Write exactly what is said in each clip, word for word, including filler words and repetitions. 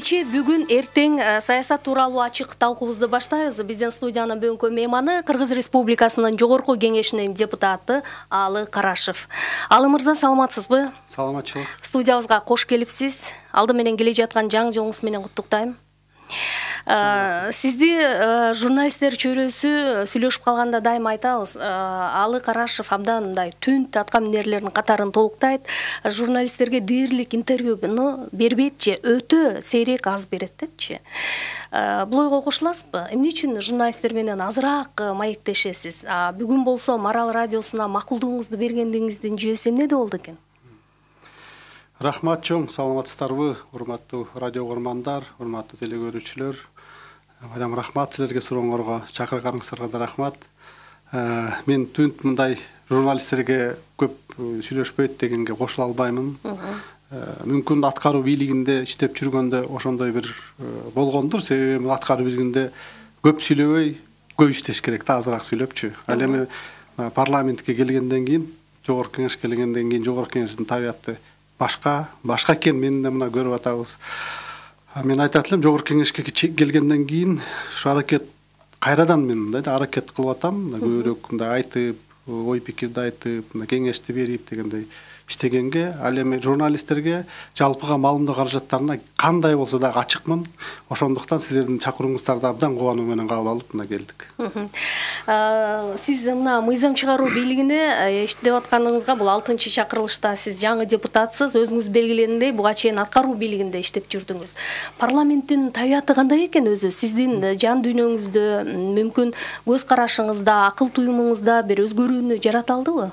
кечээ, бүгүн, эртең саясат тууралуу ачык талкуубузду баштайбыз. Биздин студиянын бүгүнкү мейманы Кыргыз Республикасынын Жогорку Кеңешинин депутаты Алы Карашев. Алы мырза, саламатсызбы? Саламатчылык. Студиябызга кош келипсиз. Алды менен келе жаткан жаңы жылыңыз менен куттуктайм. Сизди журналисттер чөйрөсү сүйлөшүп калганда дайым айтабыз. Алы Карашев абдан мындай түнт атка минерлердин катарын толуктайт. Журналисттерге дээрлик интервьюну бербейт же, өтө сейрек аз берет депчи. Бул ойго кошуласызбы? Эмне үчүн журналисттер менен азыраак маектешесиз? Бүгүн болсо Марал радиосуна макулдугуңузду бергендигиңиздин жүйөсү эмнеде болду экен? Рахмат чоң, саламатсыздарбы, урматтуу радио көрмандар, урматтуу теле көрүүчүлөр. Мадам рахмат силерге сурооңорго, чакырганыңыздарга да рахмат. Мен түнт мындай журналисттерге көп сүйлөшпөйт дегенге кошула албаймын. Мүмкүн аткаруу бийлигинде иштеп жүргөндө ошондой бир болгондур, себеби аткаруу бийлигинде көп сүйлөбөй, көп иштеш керек да, азыраак сүйлөпчү. Ал эми парламентке келгенден кийин, Жогорку Кеңешке келгенден кийин Жогорку Кеңештин табияты башка, башка экен, мен да мына көрүп атабыз. Мен айтат элем, Жогорку Кеңешке келгенден кийин ушу аракет кайрадан мен мындай да аракет кылып атам, көбүрөөк мындай айтып, ой пикирди айтып, кеңешти берип дегендей иштегенге, ал эми журналисттерге жалпыга маалымдоо каражаттарына кандай болсо дагы ачыкмын. Ошондуктан сиздердин чакырууңуздарды абдан кубануу менен кабыл алып мына келдик. Сиз мына мыйзам чыгаруу бийлигине иштеп атканыңызга, бул алтынчы чакырылышта сиз жаңы депутатсыз, өзүңүз белгилегендей буга чейин аткаруу бийлигинде иштеп жүрдүңүз. Парламенттин табияты кандай экен өзү? Сиздин жан дүйнөңүздө, мүмкүн көз карашыңызда, акыл туюмуңузда бир өзгөрүүнү жарата алдыбы?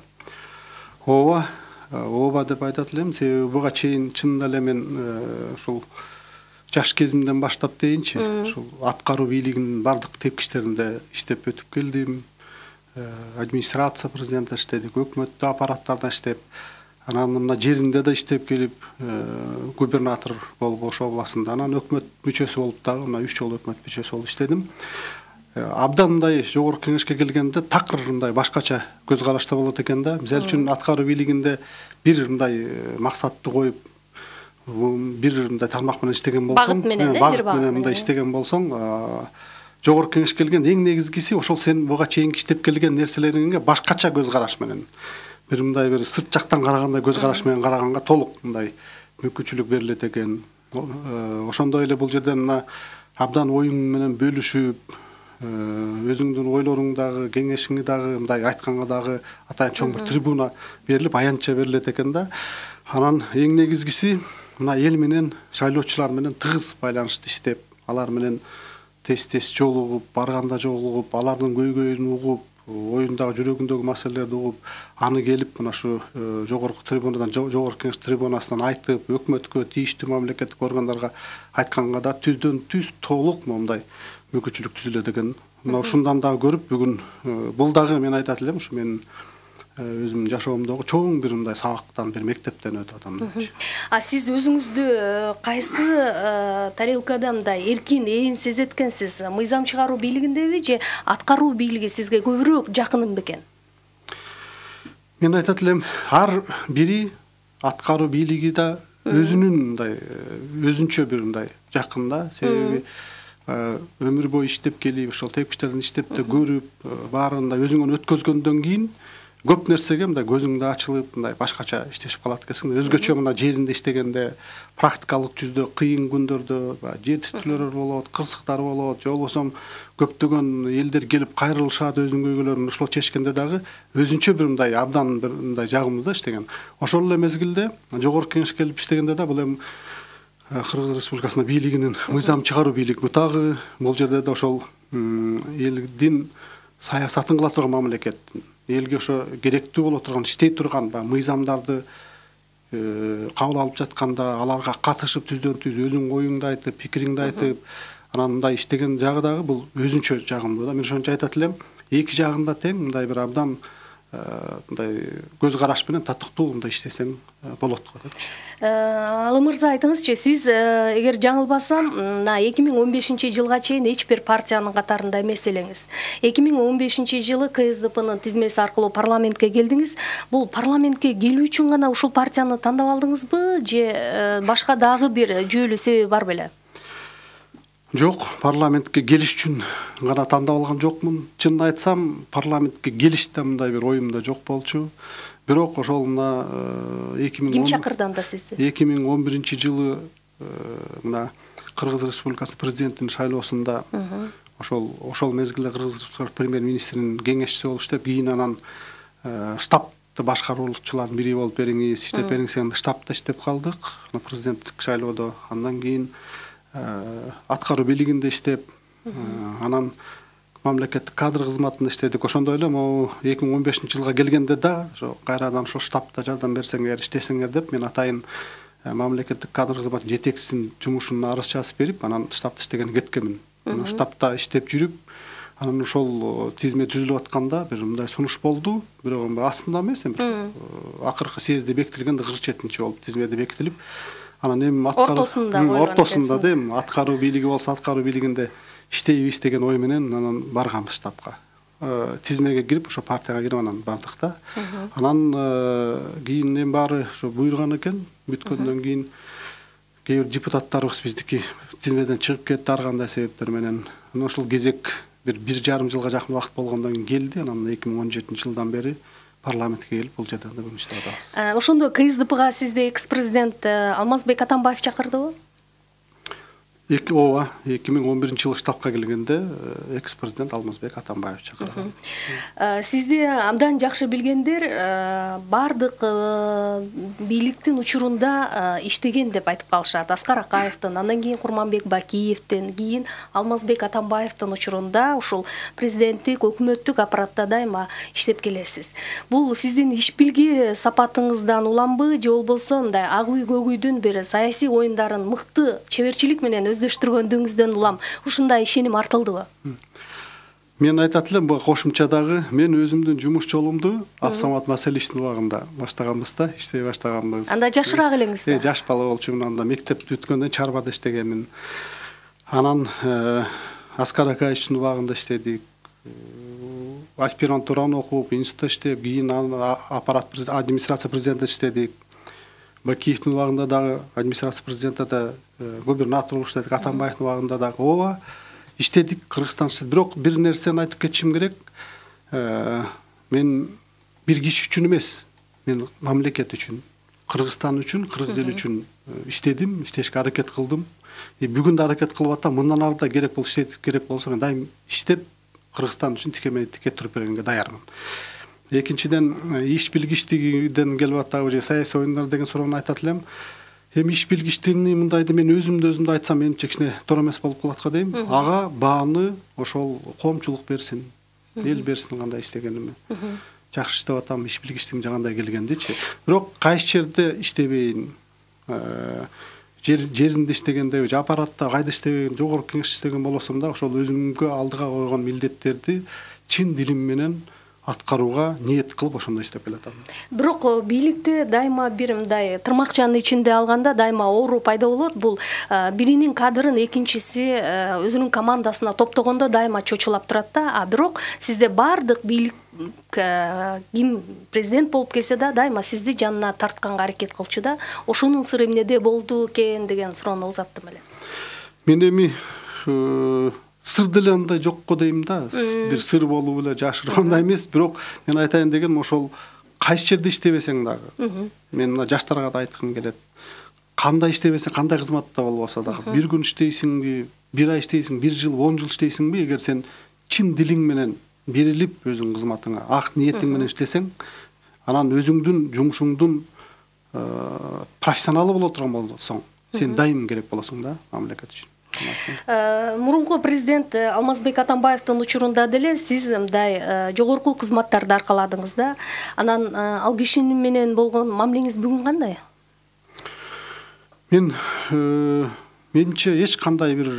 Ооба, ооба деп айтат элем, себеби буга чейин чынында эле мен ушул жаш кезимден баштап дейинчи, ушул аткаруу бийлигинин бардык тепкичтеринде иштеп өтүп келдим. Администрация президентте иштедик, өкмөттүк аппараттарда иштеп, анан мына жеринде да иштеп келип, губернатор болуп Ош областында, анан өкмөт мүчөсү болуп дагы мына үч жолу өкмөт мүчөсү болуп иштедим. Абдан мындай Жогорку Кеңешке келгенде такыр мындай башкача көз карашта болот экен да. Мисалы үчүн аткаруу бийлигинде бир мындай максатты коюп, бир мындай тармак менен иштеген болсоң, багыт менен, багыт менен мындай иштеген болсоң, Жогорку Кеңешке келген эң негизгиси ошол сен буга чейин иштеп келген нерселериңге башкача көз караш менен, бир мындай бир сырт жактан карагандай көз караш менен караганга толук мындай мүмкүнчүлүк берилет экен. Ошондой эле бул жерден мына абдан оюң менен бөлүшүп, өзүңдүн ойлоруң дагы, кеңешиңи дагы мындай айтканга дагы атайын чоң бир трибуна берилип, аянтча берилет экен да. Анан эң негизгиси мына эл менен, шайлоочулар менен тыгыз байланышты иштеп, алар менен тез-тез жолугуп, барганда жолугуп, алардын көйгөйүн угуп, оюндагы жүрөгүндөгү маселелерди угуп, аны келип мына ушу жогорку трибунадан, Жогорку Кеңеш трибунасынан айтып, өкмөткө, тийиштүү мамлекеттик органдарга айтканга да түздөн түз толук мындай мүмкүнчүлүк түзүлөт экен. Мына ушундан дагы көрүп, бүгүн бул дагы мен айтат элем, ушу менин өзүмдүн жашоомдогу чоң бир мындай сабактан, бир мектептен өтүп атам. А сиз өзүңүздү кайсы тарелкада мындай эркин, ээн сезет экенсиз? Мыйзам чыгаруу бийлигиндеби же аткаруу бийлиги сизге көбүрөөк жакын бекен? Мен айтат элем, ар бири аткаруу бийлиги да өзүнүн мындай өзүнчө бир мындай жакын да, себеби өмүр бою иштеп келип, ошол тепкичтерден иштеп да көрүп, баарында өзүңөн өткөзгөндөн кийин көп нерсеге мындай көзүң да ачылып, мындай башкача иштешип калат экенсиң. Өзгөчө мына жеринде иштегенде, практикалык жүздө, кыйын күндөрдө жер титүүлөр болот, кырсыктар болот, же болбосо көптөгөн элдер келип кайрылышат, өзүнүн көйгөйлөрүн ошол чечкенде дагы өзүнчө бир мындай абдан бир мындай жагымдуу да иштеген. Ошол эле мезгилде Жогорку Кеңешке келип иштегенде да бул эми Кыргыз Республикасынын бийлигинин мыйзам чыгаруу бийлиги бутагы, бул жерде да ошол элдин саясатын кыла турган мамлекет, элге ошо керектүү боло турган, иштей турган мыйзамдарды кабыл алып жатканда, аларга катышып түздөн түз өзүң оюңду айтып, пикириңди айтып, анан мындай иштеген жагы дагы бул өзүнчө жагымдуу да. Мен ошончо айтат элем, эки жагында тең мындай бир абдан мындай көз караш менен татыктуу мындай иштесең болот го депчи. Алы мырза, айтыңызчы, сиз эгер жаңылбасам, мына эки миң он бешинчи жылга чейин эч бир партиянын катарында эмес элеңиз. эки миң он бешинчи жылы К С Д Пнын тизмеси аркылуу парламентке келдиңиз. Бул парламентке келүү үчүн гана ушул партияны тандап алдыңызбы же башка дагы бир жүйөлүү себеби бар беле? Жок, парламентке келиш үчүн гана тандап алган жокмун. Чынын айтсам, парламентке келиш да мындай бир оюмда жок болчу. Бирок ошол мына эки миң ким чакырды анда сизди? эки миң он биринчи жылы мына Кыргыз Республикасы президентинин шайлоосунда ошол ошол мезгилде Кыргыз Республикасы премьер-министринин кеңешчиси болуп иштеп, кийин анан штабты башкаруучулардын бири болуп бериңиз, иштеп бериңиз дегенде штабта иштеп калдык. Президенттик шайлоодо андан кийин аткаруу бийлигинде иштеп, анан мамлекеттик кадр кызматында иштедик. Ошондой эле могу эки миң он бешинчи жылга келгенде да ошо кайрадан ошо штабта жардам берсеңер, иштесеңер деп мен атайын мамлекеттик кадр кызматынын жетекчисинин жумушуна арыз жазып берип, анан штабта иштегени кеткенмин. Штабта иштеп жүрүп, анан ошол тизме түзүлүп атканда бир мындай сунуш болду. Бирок астында эмес, бир акыркы съезде бекитилгенде кырк жетинчи болуп тизмеде бекитилип, анан эми аткаруу ортосунда ортосунда дейм, аткаруу бийлиги болсо аткаруу бийлигинде иштейбиз деген ой менен анан барганбыз штабка. Тизмеге кирип, ошо партияга кирип анан бардык да. Анан кийин эми баары ошо буйруган экен. Бүткөндөн кийин кээ бир депутаттарыбыз биздики тизмеден чыгып кетти ар кандай себептер менен. Анан ошол кезек бир бир жарым жылга жакын убакыт болгондон кийин келди. Анан эки миң он жетинчи жылдан бери парламентке келип бул жерде бүгүн иштеп атабыз. Ошондо КСДПга сизди экс-президент Алмазбек Атамбаев чакырдыбы? Эки ооба, эки миң он биринчи жылы штабка келгенде экс-президент Алмазбек Атамбаев чакырган. Сизди абдан жакшы билгендер бардык бийликтин учурунда иштеген деп айтып калышат. Аскар Акаевдин, андан кийин Курманбек Бакиевдин, кийин Алмазбек Атамбаевдин учурунда ушул президенттик, өкмөттүк аппаратта дайыма иштеп келесиз. Бул сиздин иш билги сапатыңыздан уламбы, же болбосо мындай ак үй көк үйдүн бир саясий оюндарын мыкты чеберчилик менен өздөштүргөндүгүңүздөн улам ушундай ишеним артылдыбы? Мен айтат элем, бул кошумчадагы мен өзүмдүн жумуш жолумду Абсамат Маселичтин убагында баштаганбыз да, иштей баштаганбыз. Анда жашыраак элеңиз да? Э, жаш бала болчумун, анда мектеп бүткөндөн чарбада иштегенмин. Анан Аскар Акаевичтин убагында иштедик. Аспирантураны окуп, институтта иштеп, кийин аппарат администрация президенти иштедик. Бакиевдин убагында дагы администрация президентида губернатор болуп иштедик. Атамбаевдин убагында дагы ооба иштедик, Кыргызстан иштедик. Бирок бир нерсени айтып кетишим керек. Мен бир киши үчүн эмес, мен мамлекет үчүн, Кыргызстан үчүн, кыргыз эли үчүн иштедим, иштешке аракет кылдым. Бүгүн да аракет кылып атам. Мындан ары да керек болсо, керек болсо мен дайым иштеп Кыргызстан үчүн тикемей тике туруп бергенге даярмын. Экинчиден, иш билгичтигиден келип атабы же саясий оюндар деген суроону айтат элем. Эми иш билгичтигини мындайды мен өзүмдү өзүмдү айтсам менимче кичине туура эмес болуп калат го дейм. Ага бааны ошол коомчулук берсин, эл берсин кандай иштегениме. Жакшы иштеп атам, иш билгичтигим жагандай келгендичи. Бирок кайсы жерде иштебейин, жеринде иштегенде же аппаратта кайда иштебеген, жогорку кеңеш иштеген болсом да ошол өзүмгө алдыга койгон милдеттерди чын дилим менен аткарууга ниет кылып ошондой иштеп келатам. Бирок бийликте дайыма бир мындай тырмакчанын ичинде алганда дайыма оору пайда болот. Бул биринин кадрын экинчиси өзүнүн командасына топтогондо дайыма чочулап турат да. А бирок сизде бардык бийлик ким президент болуп келсе да дайыма сизди жанына тартканга аракет кылчу да. Ошонун сыры эмнеде болду экен деген суроону узаттым эле. Мен эми сыр деле андай жок го дейм да. Бир сыр болуп эле жашыргандай эмес, бирок мен айтайын дегеним ошол кайсы жерде иштебесең дагы. Мен мына жаштарга да айткым келет. Кандай иштебесең, кандай кызматта болбосо дагы бир күн иштейсиңби, бир ай иштейсиң, бир жыл, он жыл иштейсиңби, эгер сен чын дилиң менен берилип өзүң кызматыңа, ак ниетиң менен иштесең, анан өзүңдүн жумушуңдун профессионалы боло турган болсоң, сен дайым керек болосуң да мамлекет үчүн. Мурунку президент Алмазбек Атамбаевдин учурунда деле сиз мындай жогорку кызматтарды аркаладыңыз да. Анан ал киши менен болгон мамилеңиз бүгүн кандай? Мен менимче эч кандай бир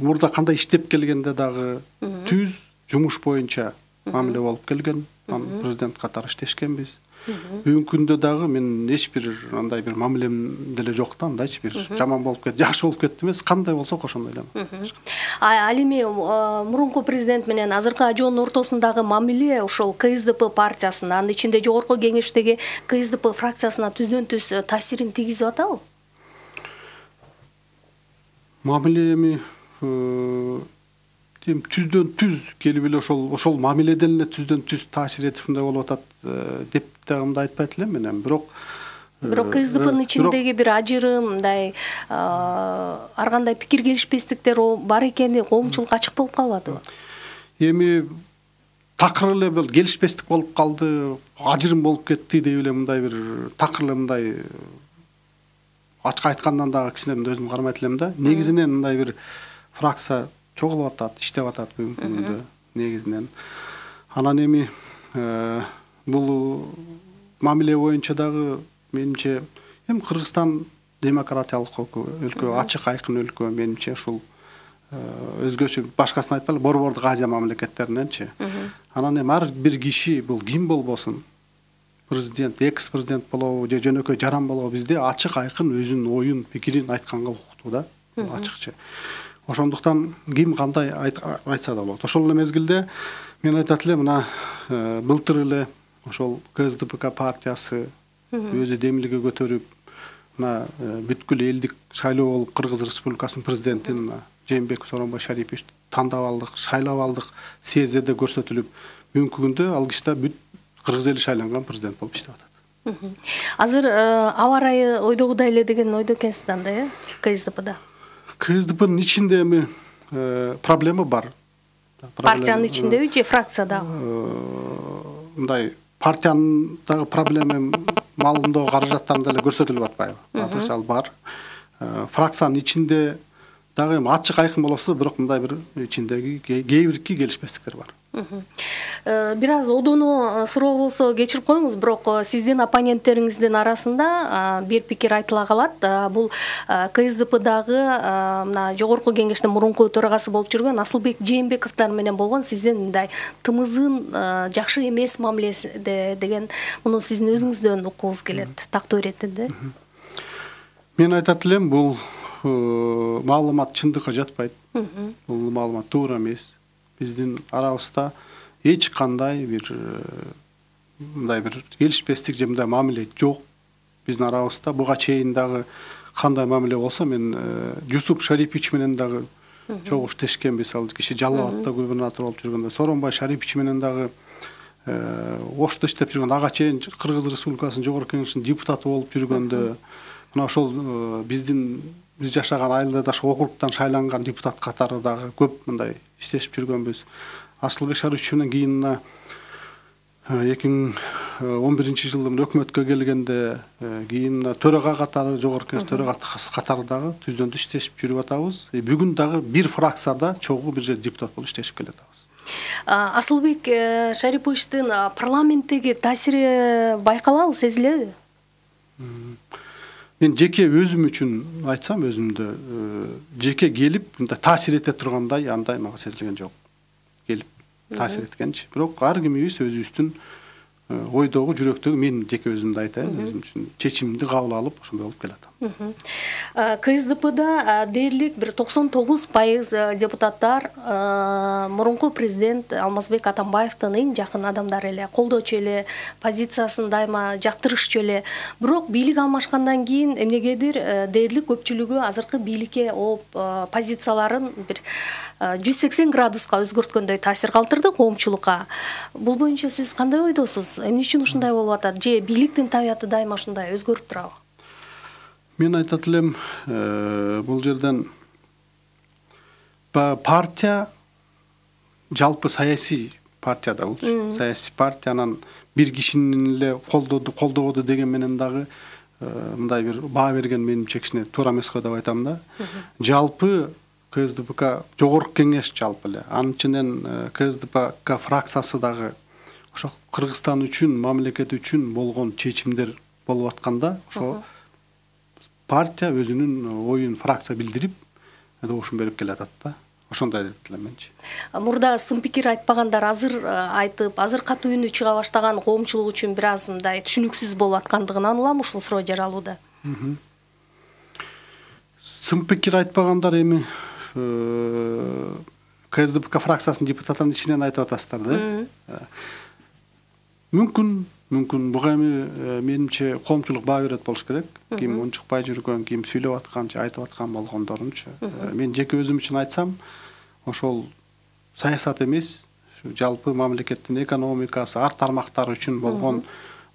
мурда кандай иштеп келгенде дагы түз жумуш боюнча мамиле болуп келген. Президент катары иштешкенбиз. Бүгүнкү күндө дагы мен эч бир андай бир мамилем деле жок да, андайчы бир жаман болуп кетти, жакшы болуп кетти эмес, кандай болсо ошондой эле. Ал эми мурунку президент менен азыркы ажоонун ортосундагы мамиле ошол КСДП партиясына, анын ичинде жогорку кеңештеги КСДП фракциясына түздөн түз таасирин тийгизип атабы? Мамиле эми тем түздөн түз келип эле ошол ошол мамиледен эле түздөн түз таасир этип ушундай болуп атат деп дагы айтпайт элем мен. Бирок бирок КСДПнын ичиндеги бир ажырым мындай ар кандай пикир келишпестиктер бар экени коомчулук ачык болуп калбадыбы? Эми такыр эле бул келишпестик болуп калды, ажырым болуп кетти деп эле мындай бир такыр эле мындай ачык айткандан дагы кичине өзүм кармайт элем да. Негизинен мындай бир фракция чогулуп атат, иштеп атат бүгүнкү күндө негизинен. Анан эми бул мамиле боюнча дагы менимче эми Кыргызстан демократиялык өлкө, ачык айкын өлкө, менимче ушул өзгөчө башкасын айтпайлы, борбордук Азия мамлекеттериненчи. Анан эми ар бир киши бул ким болбосун, президент, экс президент болобу же жөнөкөй жаран болобу, бизде ачык айкын өзүнүн оюн, пикирин айтканга укуктуу да, ачыкча. Ошондуктан ким кандай айтса да болот. Ошол эле мезгилде мен айтат элем, мына былтыр эле ошол КСДП партиясы өзү демилге көтөрүп, мына бүткүл элдик шайлоо болуп Кыргыз Республикасынын президентин Жээнбеков Сооронбай Шарипович тандап алдык, шайлап алдык, съездде көрсөтүлүп, бүгүнкү күндө ал киши да бүт Кыргыз эли шайланган президент болуп иштеп атат. Азыр аба ырайы ойдогудай эле деген ойдо экенсиз анда, э, КСДПда? КСДПнын ичинде эми проблема бар. Партиянын ичиндеби же фракциядагы? Мындай партиянын дагы проблема малымдоо каражаттарында эле көрсөтүлүп атпайбы? Ал бар. Фракциянын ичинде дагы эми ачык айкын болосо да, бирок мындай бир ичиндеги кээ бирки келишпестиктер бар. Бир аз одоно суроо болсо кечирип коюңуз, бирок сиздин оппоненттериңиздин арасында бир пикир айтыла калат. Бул КСДПдагы мына жогорку кеңештин мурунку төрагасы болуп жүргөн Асылбек Жээнбековдор менен болгон сиздин мындай тымызын жакшы эмес мамиледе деген, муну сиздин өзүңүздөн уккуңуз келет, тактоо иретинде. Мен айтат элем, бул маалымат чындыкка жатпайт. Бул маалымат туура эмес. Биздин арабызда эч кандай бир мындай бир келишпестик же мындай мамиле жок. Биздин арабызда буга чейин дагы кандай мамиле болсо, мен Жусуп Шарипович менен дагы чогуу иштешкенбиз. Ал киши Жалал Абадта губернатор болуп жүргөндө, Сооронбай Шарипович менен дагы Ошто иштеп жүргөн, ага чейин Кыргыз Республикасынын жогорку кеңешинин депутаты болуп жүргөндө, мына ошол биздин биз жашаган Айылдаш округтан шайланган депутат катары дагы көп мындай иштешип жүргөнбүз. Асылбек Шарипович менен кийин эки миң он биринчи жылы өкмөткө келгенде кийин төрага катары, жогорку кеңеш төрагасы катары дагы түздөн түз иштешип жүрүп атабыз. Бүгүн дагы бир фракцияда чогуу бир жерде депутат болуп иштешип келатабыз. Асылбек Шариповичтин парламенттеги таасири байкалабы, сезилеби? Мен жеке өзүм үчүн айтсам, өзүмдө жеке келип мындай таасир эте тургандай андай мага сезилген жок. Келип таасир эткенчи. Бирок ар кимибиз өзүбүздүн ойдогу, жүрөктөгү, мен жеке өзүмдү айтайын, өзүм үчүн чечимди кабыл алып ошондой болуп келатам. КСДПда дээрлик бир токсон тогуз пайыз депутаттар мурунку президент Алмазбек Атамбаевдин эң жакын адамдары эле, колдочу эле, позициясын дайыма жактырышчу эле. Бирок бийлик алмашкандан кийин эмнегедир дээрлик көпчүлүгү азыркы бийликке ооп позицияларын бир жүз сексен градуска өзгөрткөндөй таасир калтырды коомчулукка. Бул боюнча сиз кандай ойдосуз? Эмне үчүн ушундай болуп атат? Же бийликтин табияты дайыма ушундай өзгөрүп турабы? Мен айтат элем, бул жерден партия жалпы саясий партия да бул. Саясий партиянын бир кишинин эле колдоду, колдободу деген менен дагы мындай бир баа берген менимче кичине туура эмес го деп айтам да. Жалпы КСДП жогорку кеңеш жалпы эле, анын ичинен КСДП фракциясы дагы ошо Кыргызстан үчүн, мамлекет үчүн болгон чечимдер болуп атканда, ошо партия өзүнүн оюн фракция билдирип, добушун берип келатат да. Ошондой деп элем менчи. Мурда сын пикир айтпагандар азыр айтып, азыр катуу үнү чыга баштаган коомчулук үчүн бир аз мындай түшүнүксүз болуп аткандыгынан улам ушул суроо жаралууда. Сын пикир айтпагандар эми КСДП фракциясынын депутаттарынын ичинен айтып атасыздар да. мүмкүн мүмкүн буга эми менимче коомчулук баа берет болуш керек. Ким унчукпай жүргөн, ким сүйлөп аткан же айтып аткан болгондорунчу. Мен жеке өзүм үчүн айтсам, ошол саясат эмес, жалпы мамлекеттин экономикасы, ар тармактары үчүн болгон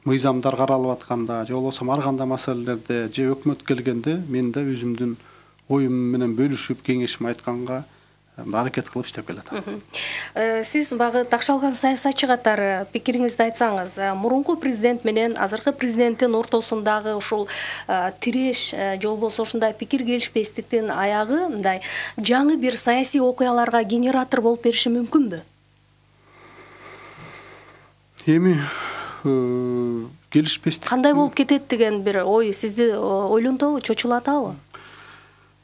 мыйзамдар каралып атканда же болбосо ар кандай маселелерде же өкмөт келгенде мен да өзүмдүн оюм менен бөлүшүп, кеңешим айтканга аракет кылып иштеп келатам. Сиз багы такшалган саясатчы катары пикириңизди айтсаңыз, мурунку президент менен азыркы президенттин ортосундагы ушул тиреш же болбосо ушундай пикир келишпестиктин аягы мындай жаңы бир саясий окуяларга генератор болуп бериши мүмкүнбү? Эми келишпестик кандай болуп кетет деген бир ой сизди ойлонтобу, чочулатабы?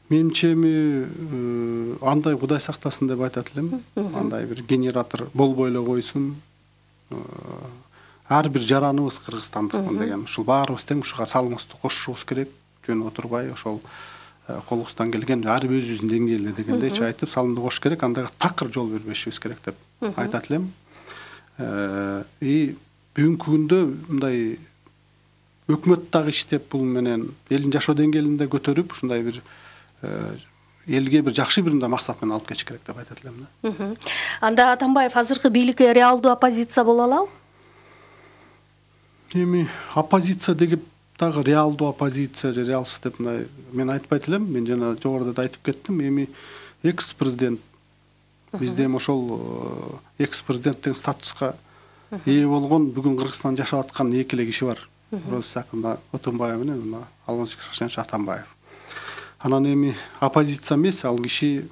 Менимче эми андай Кудай сактасын деп айтат элем. Андай бир генератор болбой эле койсун. Ар бир жараныбыз кыргызстандыкмын деген. Ушул баарыбыз тең ушуга салымыбызды кошушубуз керек. Жөн отурбай ошол колубуздан келген ар бир өзүбүздүн деңгээлде дегендейчи айтып салымды кошуш керек. Андайга такыр жол бербешибиз керек деп айтат элем. И бүгүнкү күндө мындай өкмөт дагы иштеп бул менен элдин жашоо деңгээлин көтөрүп, ушундай бир элге бир жакшы бир мындай максат менен алып кетиш керек деп айтат элем да. Анда Атамбаев азыркы бийликке реалдуу оппозиция боло алабы? Эми оппозиция деп дагы реалдуу оппозиция же реалсыз деп мындай мен айтпайт элем. Мен жана жогоруда да айтып кеттим. Эми экс президент бизде эми ошол экс президенттик статуска ээ болгон бүгүн Кыргызстанда жашап аткан эки эле киши бар. Роза Отунбаева менен Алмазбек Шыкшенович Атамбаев. Анан эми оппозиция эмес, ал киши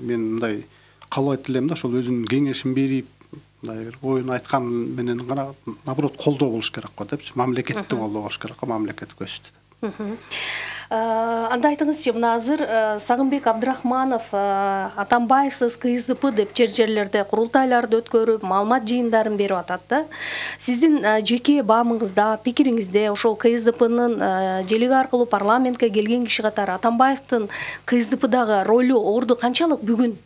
мен мындай каалабайт элем да, ошол өзүнүн кеңешин берип, мындай бир оюн айткан менен гана наоборот колдоо болуш керек го депчи, мамлекетти колдоо болуш керек го, мамлекет көчтү. Анда айтыңызчы, мына азыр Сагынбек Абдрахманов Атамбаевсыз КСДП деп жер жерлерде курултайларды өткөрүп, маалымат жыйындарын берип атат да. Сиздин жеке баамыңызда, пикириңизде ошол КСДПнын желеги аркылуу парламентке келген киши катары Атамбаевдин КСДПдагы ролу, орду канчалык бүгүн?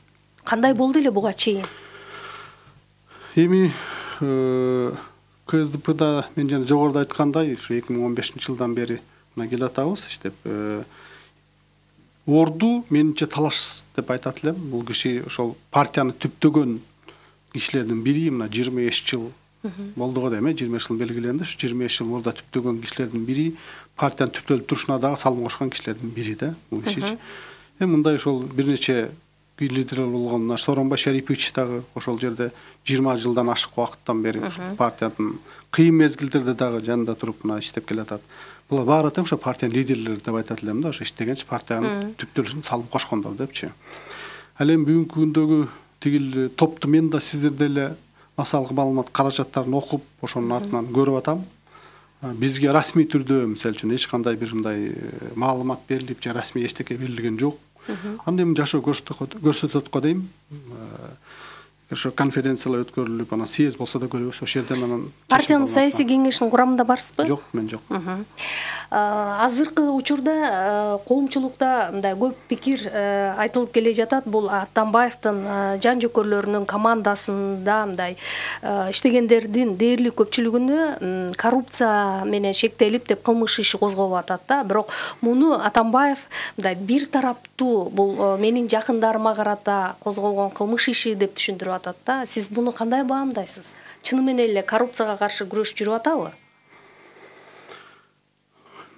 Кандай болду эле буга чейин? Эми КСДПда мен жана жогоруда айткандай, ушу эки миң он бешинчи жылдан бери келе атабыз иштеп. Орду менимче талаш деп айтат элем. Бул киши ошол партияны түптөгөн кишилердин бири, мына жыйырма беш жыл болду го дейм, жыйырма беш жыл белгиленди. Ушу жыйырма беш жыл мурда түптөгөн кишилердин бири, партиянын түптөлүп турушуна дагы салым кошкон кишилердин бири да бул киши. Эми мындай ошол бир нече лидерлер болгон Сооронбай Шарипович дагы ошол жерде жыйырма жылдан ашык убакыттан бери партиянын кыйын мезгилдерде дагы жанында туруп мына иштеп келатат. Булар баары тең ошо партиянын лидерлери деп айтат элем да, ошо иштегенчи партиянын түптөлүшүн салым кошкондор депчи. Ал эми бүгүнкү күндөгү тигил топту мен да сиздер деле массалык маалымат каражаттарын окуп, ошонун артынан көрүп атам. Бизге расмий түрдө мисалы үчүн эч кандай бир мындай маалымат берилип же расмий эчтеке берилген жок. Анда эми жашоо көрсөтөт го дейм. Ошо конференциялар өткөрүлүп, анан съезд болсо да көрөбүз, ошол жерден анан партиянын саясий кеңешинин курамында барсызбы? Жок, мен жок. Азыркы учурда коомчулукта мындай көп пикир айтылып келе жатат. Бул Атамбаевдин жан жөкөрлөрүнүн командасында мындай иштегендердин дээрлик көпчүлүгүнө коррупция менен шектелип деп кылмыш иши козголуп атат да. Бирок муну Атамбаев мындай бир тараптуу, бул менин жакындарыма карата козголгон кылмыш иши деп түшүндүрүп атат да. Сиз буну кандай баамдайсыз? Чыны менен эле коррупцияга каршы күрөш жүрүп атабы?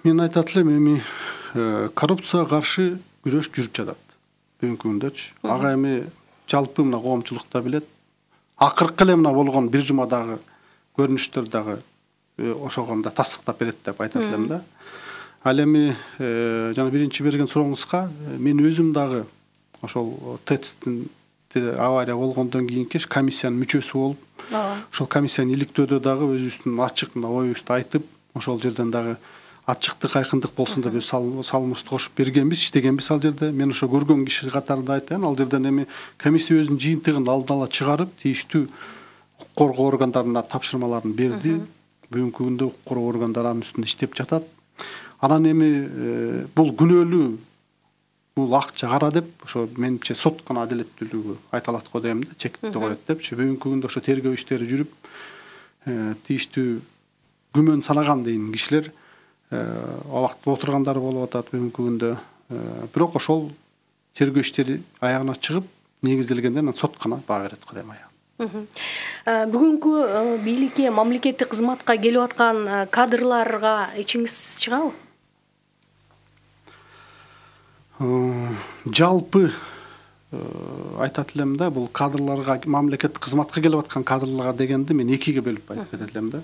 Мен айтат элем, эми коррупцияга каршы күрөш жүрүп жатат бүгүнкү күндөчү. Ага эми жалпы мына коомчулукта билет. Акыркы эле мына болгон бир жумадагы көрүнүштөр дагы ошогонда тастыктап берет деп айтат элем да. Ал эми жана биринчи берген сурооңузга мен өзүм дагы ошол ТЭЦтин авария болгондон кийинки комиссиянын мүчөсү болуп, ошол комиссияны иликтөөдө дагы өзүбүздүн ачык мына оюбузду айтып, ошол жерден дагы ачыктык, айкындык болсун деп салымыбызды кошуп бергенбиз, иштегенбиз ал жерде. Мен ошо көргөн киши катарында айтайын, ал жерден эми комиссия өзүнүн жыйынтыгын алдын ала чыгарып, тийиштүү укук коргоо органдарына тапшырмаларын берди. Бүгүнкү күндө укук коргоо органдары анын үстүндө иштеп жатат. Анан эми бул күнөөлүү, бул акча кара деп, ошо менимче сот гана адилеттүүлүгү айталат го дейм да, чектти коет депчи. Бүгүнкү күндө ошо тергөө иштери жүрүп, тийиштүү күмөн санаган дейин кишилер абакта отургандар болуп атат бүгүнкү күндө. Бирок ошол тергөө иштери аягына чыгып, негизделгенде анан сот гана баа берет го дейм аягы. Бүгүнкү бийликке, мамлекеттик кызматка келип аткан кадрларга ичиңиз чыгабы? Жалпы айтат элем да, бул кадрларга, мамлекеттик кызматка келип аткан кадрларга дегенди мен экиге бөлүп айтып кетет элем да.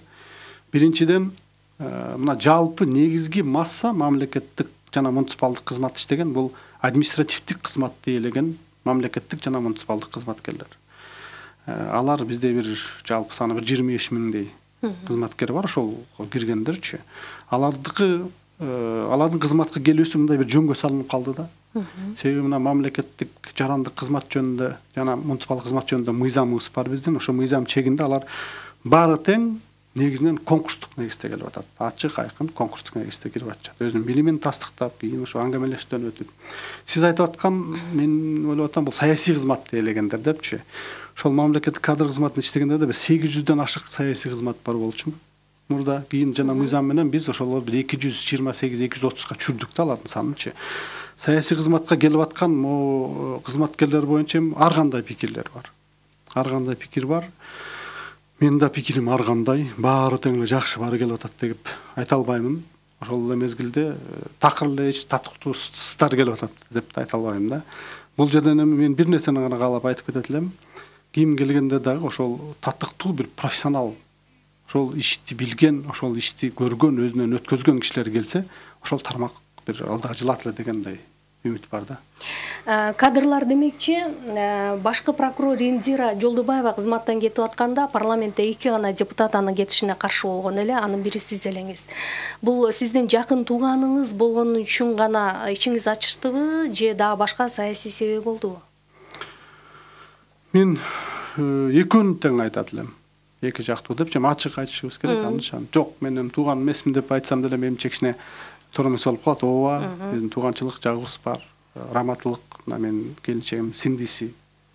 Биринчиден, мына жалпы негизги масса мамлекеттик жана муниципалдык кызмат иштеген, бул административдик кызматты ээлеген мамлекеттик жана муниципалдык кызматкерлер. Алар бизде бир жалпы саны бир жыйырма беш миңдей кызматкер бар, ошол киргендерчи. Алардыкы алардын кызматка келүүсү мындай бир жөнгө салынып калды да. Себеби мына мамлекеттик жарандык кызмат жөнүндө жана муниципалдык кызмат жөнүндө мыйзамыбыз бар биздин. Ошо мыйзам чегинде алар баары тең негизинен конкурстук негизде келип атат. Ачык, айкын конкурстук негизде кирип атышат. Өзүнүн билимин тастыктап, кийин ошо аңгемелештен өтүп. Сиз айтып аткан, мен ойлоп атам, бул саясий кызматты ээлегендер депчи. Ошол мамлекеттик кадр кызматын иштегенде да бир сегиз жүздөн ашык саясий кызмат бар болчу. Мурда кийин жана мыйзам менен биз ошолорду бир эки жүз жыйырма сегиз эки жүз отузга чүрдүк да алардын санынчы. Саясий кызматка келип аткан могу кызматкерлер боюнча ар кандай пикирлер бар. Ар кандай пикир бар. Мен да пикирим ар кандай, баары тең эле жакшы баары келип атат деп айта албаймын. Ошол эле мезгилде такыр эле эч татыктуусуздар келип атат деп да айта албайм да. Бул жерден мен бир нерсени гана каалап айтып кетет элем. Ким келгенде дагы ошол татыктуу бир профессионал, ошол ишти билген, ошол ишти көргөн, өзүнөн өткөзгөн кишилер келсе, ошол тармак бир алдыга жылат эле дегендей үмүт бар да. Кадрлар демекчи, башкы прокурор Индира Жолдубаева кызматтан кетип атканда парламентте эки гана депутат анын кетишине каршы болгон эле, анын бири сиз элеңиз. Бул сиздин жакын тууганыңыз болгон үчүн гана ичиңиз ачыштыбы, же дагы башка саясий себеп болдубу? Мен экөөнү тең айтат элем. Эки жактуу деп, жана ачык айтышыбыз керек, анышан. Жок, менин тууганым эмесмин деп айтсам деле менимче кичине туура эмес болуп калат. Ооба, биздин тууганчылык жагыбыз бар. Раматылык, мына менин келинчегим сиңдиси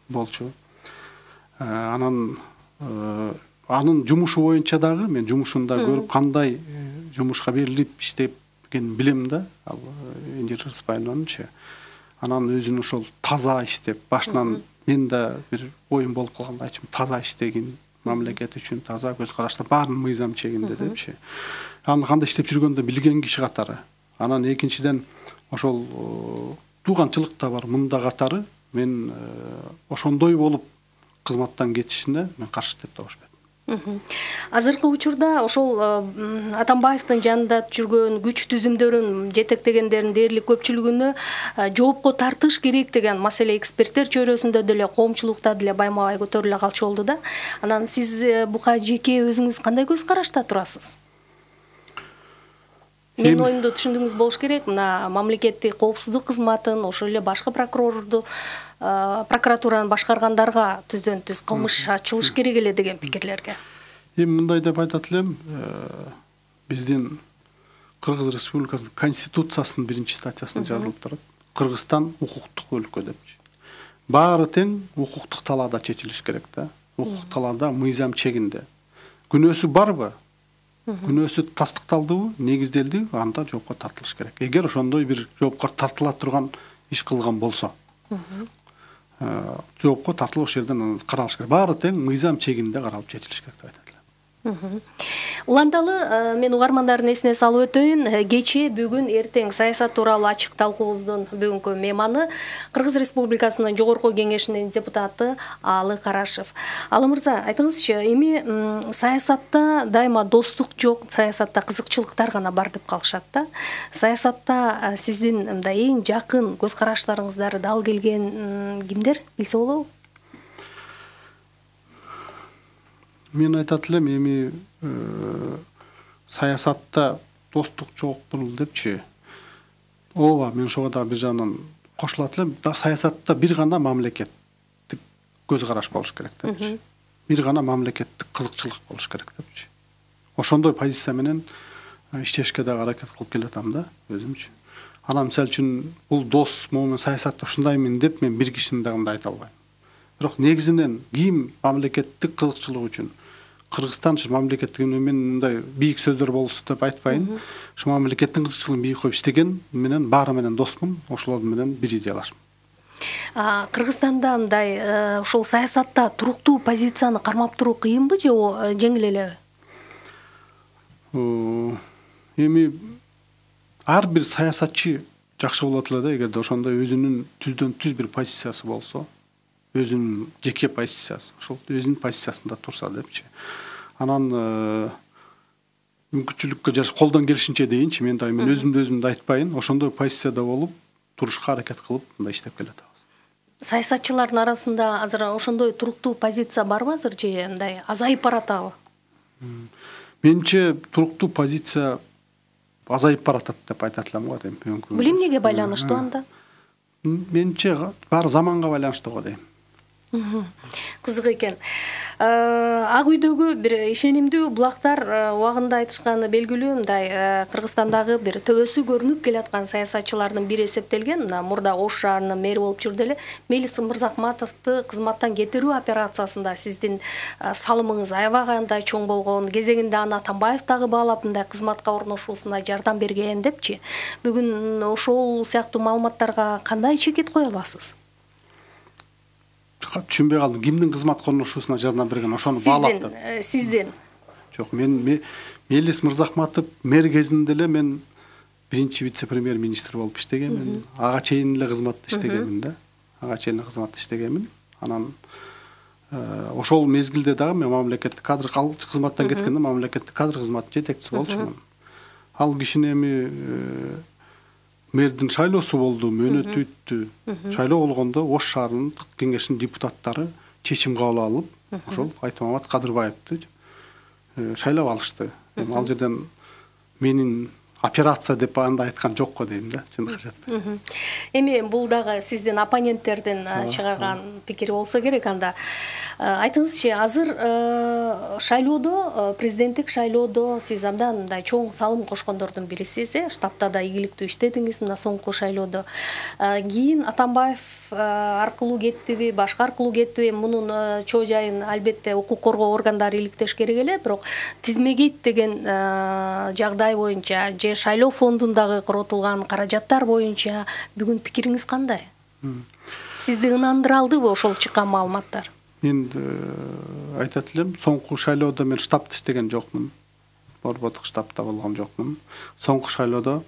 болчу. Анан анын жумушу боюнча дагы мен жумушунда көрүп кандай жумушка берилип иштепкенин билем да. Ал Индира Рыспайнованчы. Анан өзүнүн ошол таза иштеп, башынан мен да бир оюм болуп калганда айтчумун, таза иштеген, мамлекет үчүн таза көз карашта баарын мыйзам чегинде депчи. Аны кандай иштеп жүргөндө билген киши катары. Анан экинчиден ошол тууганчылык да бар мында катары. Мен ошондой болуп кызматтан кетишине мен каршы деп табышпайм. Азыркы учурда ошол Атамбаевдин жанында жүргөн күч түзүмдөрүн жетектегендердин дээрлик көпчүлүгүнө жоопко тартыш керек деген маселе эксперттер чөйрөсүндө деле, коомчулукта деле байма-бай көтөрүлө калчу болду да. Анан сиз буга жеке өзүңүз кандай көз карашта турасыз? Менин оюмду түшүндүңүз болуш керек. Мына мамлекеттик коопсуздук кызматын, ошол эле башкы прокурорду, прокуратураны башкаргандарга түздөн түз кылмыш ачылыш керек эле деген пикирлерге. Эми мындай деп айтат элем, биздин Кыргыз Республикасынын Конституциясынын биринчи статьясында жазылып турат. Кыргызстан укуктук өлкө депчи. Баары тең укуктук талаада чечилиш керек да. Укук талаада мыйзам чегинде. Күнөөсү барбы? Күнөөсү тастыкталдыбы, негизделдиби, анда жоопко тартылыш керек. Эгер ошондой бир жоопко тартыла турган иш кылган болсо, жоопко тартылып ошол жерден каралыш керек. Баары тең мыйзам чегинде каралып чечилиш керек деп айтат элем. Уланталы мен угармандардын эсине салып өтөйүн. Кечээ, бүгүн, эртең саясат тууралуу ачык талкуубуздун бүгүнкү мейманы Кыргыз Республикасынын Жогорку Кеңешинин депутаты Алы Карашев. Алы мырза, айтыңызчы, эми саясатта дайыма достук жок, саясатта кызыкчылыктар гана бар деп калышат да. Саясатта сиздин мындай эң жакын көз караштарыңыздары дал келген кимдер билсе болобу? Мен айтат элем, эми саясатта достук жок бул депчи. Ооба, мен ошого да бир жагынан кошулат элем. Саясатта бир гана мамлекеттик көз караш болуш керек депчи. Бир гана мамлекеттик кызыкчылык болуш керек депчи. Ошондой позиция менен иштешке дагы аракет кылып келатам да өзүмчү. Анан мисалы үчүн бул дос, могу мен саясатта ушундаймын деп мен бир кишини дагы мындай айта албайм. Бирок негизинен ким мамлекеттик кызыкчылык үчүн, Кыргызстан ушу мамлекеттик мен мындай бийик сөздөр болсун деп айтпайын. Ушу мамлекеттин кызыкчылыгын бийик коюп иштеген менен баары менен досмун, ошолор менен бир идеялашмын. Кыргызстанда мындай ушул саясатта туруктуу позицияны кармап туруу кыйынбы же жеңил элеби? Эми ар бир саясатчы жакшы болот эле да, эгерде ошондой өзүнүн түздөн түз бир позициясы болсо, өзүнүн жеке позициясы, ошол өзүнүн позициясында турса депчи. Анан мүмкүнчүлүккө жараша колдон келишинче дейинчи, мен да мен өзүмдү өзүмдү айтпайын, ошондой позицияда болуп турушка аракет кылып мындай иштеп келатабыз. Саясатчылардын арасында азыр ошондой туруктуу позиция барбы азыр же мындай азайып баратабы? Менимче туруктуу позиция азайып баратат деп айтат элем го дейм. Бул эмнеге байланыштуу анда? Менимче баары заманга байланыштуу го дейм. Кызык экен. Ак үйдөгү бир ишенимдүү булактар убагында айтышканы белгилүү, мындай Кыргызстандагы бир төбөсү көрүнүп келаткан саясатчылардын бири эсептелген, мына мурда Ош шаарынын мэри болуп жүрдү эле Мелис Мырзахматовду кызматтан кетирүү операциясында сиздин салымыңыз аябагандай чоң болгон, кезегинде аны Атамбаев дагы баалап мындай кызматка орношуусуна жардам берген депчи. Бүгүн ошол сыяктуу маалыматтарга кандай чекит кое аласыз? Түшүнбөй калдым. Кимдин кызматка орношуусуна жардам берген, ошону баалап деп. Сиздин. Жок, мен Мелис Мырзахматов мэр кезинде эле мен биринчи вице-премьер-министр болуп иштегенмин. Ага чейин эле кызматта иштегенмин да. Ага чейин кызматта иштегенмин. Анан ошол мезгилде дагы мен мамлекеттик кадр кызматтан кеткенде мамлекеттик кадр кызматы жетекчиси болчумун. Ал кишини эми мэрдин шайлоосу болду, мөөнөтү өттү. Шайлоо болгондо Ош шаарынын кеңешинин депутаттары чечим кабыл алып, ошол Айтмамат Кадырбаевди шайлап алышты. Эми ал жерден менин операция деп анда айткан жок го дейм да, чындыгы жетпей. Эми бул дагы сиздин оппоненттердин чыгарган пикири болсо керек анда. Айтыңызчы, азыр шайлоодо, президенттик шайлоодо сиз абдан мындай чоң салым кошкондордун бирисиз, э, штабта да ийгиликтүү иштедиңиз мына соңку шайлоодо. Кийин Атамбаев аркылуу кеттиби, башка аркылуу кеттиби, мунун чоо жайын албетте укук коргоо органдары иликтеш керек эле, бирок тизмегейт деген жагдай боюнча же шайлоо фондундагы коротулган каражаттар боюнча бүгүн пикириңиз кандай? Сизди ынандыра алдыбы ошол чыккан маалыматтар? Мен айтат элем, соңку шайлоодо мен штабта иштеген жокмун. Борбордук штабта болгон жокмун. Соңку шайлоодо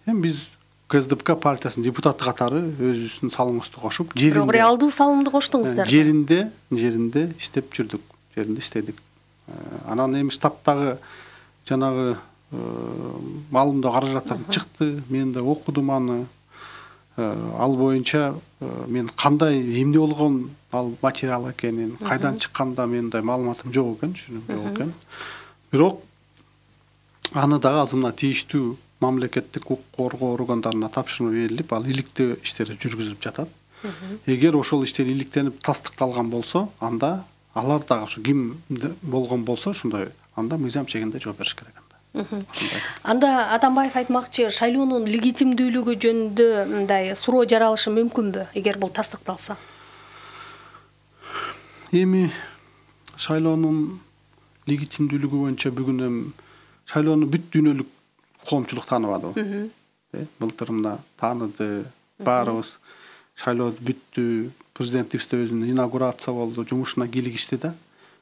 эми биз КСДП партиясынын депутаты катары өзүбүздүн салымыбызды кошуп, жеринде. Бирок реалдуу салымды коштуңуздар. Жеринде, жеринде иштеп жүрдүк. Жеринде иштедик. Анан эми штабтагы жанагы маалымдоо каражаттар чыкты. Мен да окудум аны. Ал боюнча мен кандай эмне болгон ал материал экенин, кайдан чыкканда менде маалыматым жок экен, түшүнүм жок экен. Бирок аны дагы азыр мына тийиштүү мамлекеттик укук коргоо органдарына тапшырма берилип, ал иликтөө иштери жүргүзүлүп жатат. Эгер ошол иштер иликтенип тастыкталган болсо, анда алар дагы ушу ким болгон болсо, ошондой анда мыйзам чегинде жооп бериш керек анда. Анда Атамбаев айтмакчы, шайлоонун легитимдүүлүгү жөнүндө мындай суроо жаралышы мүмкүнбү, эгер бул тастыкталса? Эми шайлоонун легитимдүүлүгү боюнча бүгүн эми шайлоону бүт дүйнөлүк коомчулук тааныбадыбы? Былтыр мына тааныды, баарыбыз шайлоо бүттү, президенттикте өзүнүн инаугурация болду, жумушуна кийлигишти да.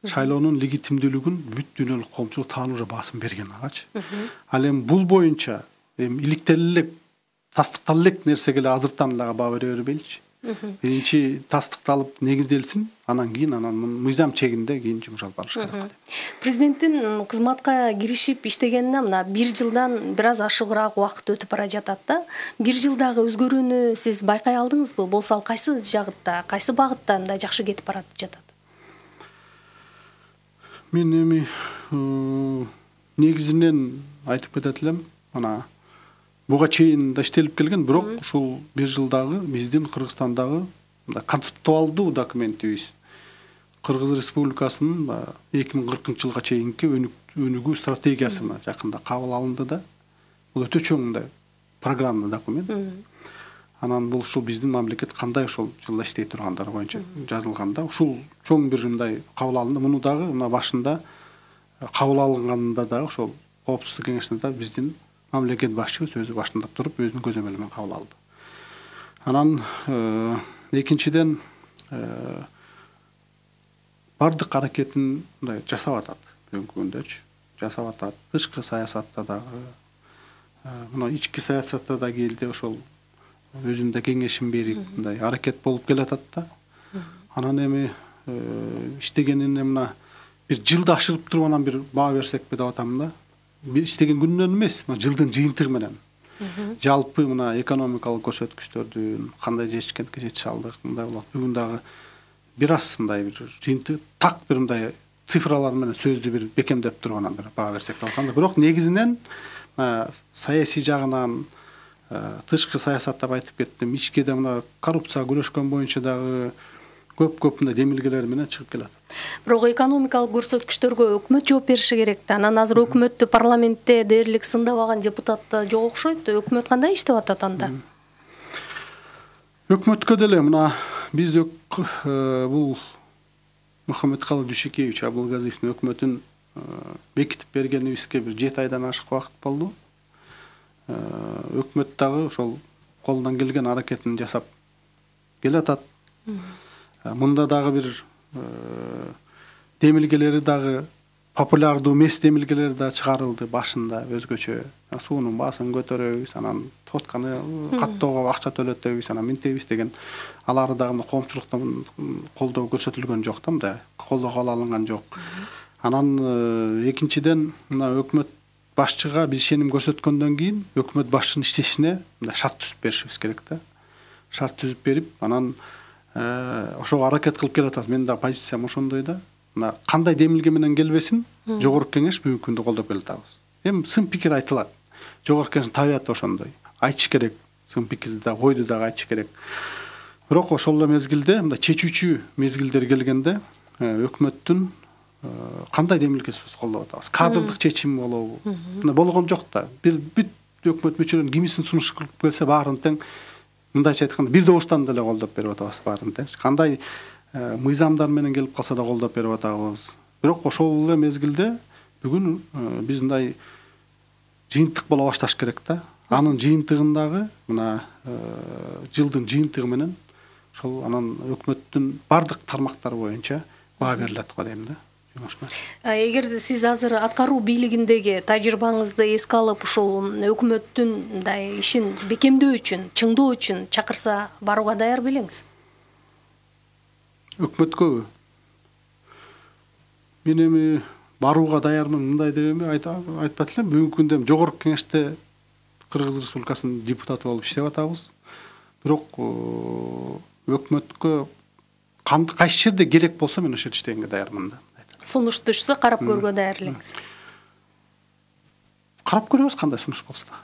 Шайлоонун легитимдүүлүгүн бүт дүйнөлүк коомчулук таанып уже басым берген агачы. Ал эми бул боюнча эми иликтеле элек, тастыктала элек нерсеге эле азыртан эле баа бере бербейличи. Биринчи тастыкталып негизделсин, анан кийин анан мыйзам чегинде кийин жумуш алып барыш керек. Президенттин кызматка киришип иштегенине мына бир жылдан бир аз ашыгыраак убакыт өтүп бара жатат да. Бир жылдагы өзгөрүүнү сиз байкай алдыңызбы? Болсо ал кайсы жагытта, кайсы багытта мындай жакшы кетип баратып жатат? Мен эми негизинен айтып кетет элем, мына буга чейин да иштелип келген, бирок ушул бир жылдагы биздин Кыргызстандагы концептуалдуу документибиз Кыргыз Республикасынын эки миң кыркынчы жылга чейинки өнүгүү стратегиясы жакында кабыл алынды да. Бул өтө чоң мындай программа документ. Анан бул ушул биздин мамлекет кандай ошол жылда иштей тургандар боюнча жазылганда, ушул чоң бир мындай кабыл алынды. Муну дагы мына башында кабыл алынганында дагы ошол коопсуздук кеңешинде да биздин мамлекет башчыбыз өзү башында туруп өзүнүн көзөмөлү менен кабыл алды. Анан экинчиден бардык аракетин мындай жасап атат бүгүнкү күндөчү. Жасап атат. Тышкы саясатта дагы, мына ички саясатта да келди ошол өзүнүн да кеңешин берип мындай аракет болуп келатат да. Анан эми иштегенине мына бир жылды ашырып туруп анан бир баа берсекпи деп атам да. Бир иштеген күнүнөн эмес, мына жылдын жыйынтыгы менен. Жалпы мына экономикалык көрсөткүчтөрдүн кандай жетишкендикке жетише алдык, мындай болот. Бүгүн дагы бир аз мындай бир жыйынтык так бир мындай цифралар менен сөздү бир бекемдеп туруп анан бир баа берсек деп атам да. Бирок негизинен саясий жагынан, тышкы саясатта айтып кеттим, ичкиде мына коррупцияга күрөшкөн боюнча дагы көп-көп мындай демилгелер менен чыгып келат. Бирок экономикалык көрсөткүчтөргө өкмөт жооп бериши керек да. Анан азыр өкмөттү парламентте дээрлик сындабаган депутат жок окшойт. Өкмөт кандай иштеп атат анда? Өкмөткө деле мына биз бул Мухаммедкалый Дүйшекеевич Абылгазиевдин өкмөтүн бекитип бергенибизге бир жети айдан ашык убакыт болду. Өкмөт дагы ошол колунан келген аракетин жасап келатат. Мында дагы бир демилгелери дагы популярдуу эмес демилгелер да чыгарылды башында өзгөчө. Суунун баасын көтөрөбүз, анан тотканы каттоого акча төлөтөбүз, анан минтебиз деген алары дагы коомчулуктан колдоо көрсөтүлгөн жок да, мындай колдоого алынган жок. Анан экинчиден мына өкмөт башчыга биз ишеним көрсөткөндөн кийин өкмөт башчынын иштешине мындай шарт түзүп беришибиз керек да. Шарт түзүп берип, анан ошого аракет кылып келатабыз. Менин да позициям ошондой да. Мына кандай демилге менен келбесин, жогорку кеңеш бүгүнкү күндө колдоп келатабыз. Эми сын пикир айтылат. Жогорку кеңештин табияты ошондой. Айтыш керек. Сын пикирди да, ойду дагы айтыш керек. Бирок ошол эле мезгилде мындай чечүүчү мезгилдер келгенде өкмөттүн кандай демилгесин колдоп атабыз? Кадрдык чечим болобу? Мына болгон жок да. Бир бүт өкмөт мүчөлөрүнүн кимисин сунуш кылып келсе баарын тең мындайча айтканда бир добуштан деле колдоп берип атабыз баарын тең. Кандай мыйзамдар менен келип калса да колдоп берип атабыз. Бирок ошол эле мезгилде бүгүн биз мындай жыйынтык боло башташ керек да. Анын жыйынтыгындагы мына жылдын жыйынтыгы менен ошол анан өкмөттүн бардык тармактары боюнча баа берилет го дейм да. Эгерде сиз азыр аткаруу бийлигиндеги тажрыйбаңызды эске алып, ушул өкмөттүн мындай ишин бекемдөө үчүн, чыңдоо үчүн чакырса барууга даяр белеңиз? Өкмөткөбү? Мен эми барууга даярмын мындай деп эми айтпат элем. Бүгүнкү күндө жогорку кеңеште Кыргыз Республикасынын депутаты болуп иштеп атабыз. Бирок өкмөткө кайсы жерде керек болсо мен ошол жерде иштегенге даярмын да. Сунуш түшсө карап көргө даяр элеңиз. Карап көрөбүз кандай сунуш болсо да.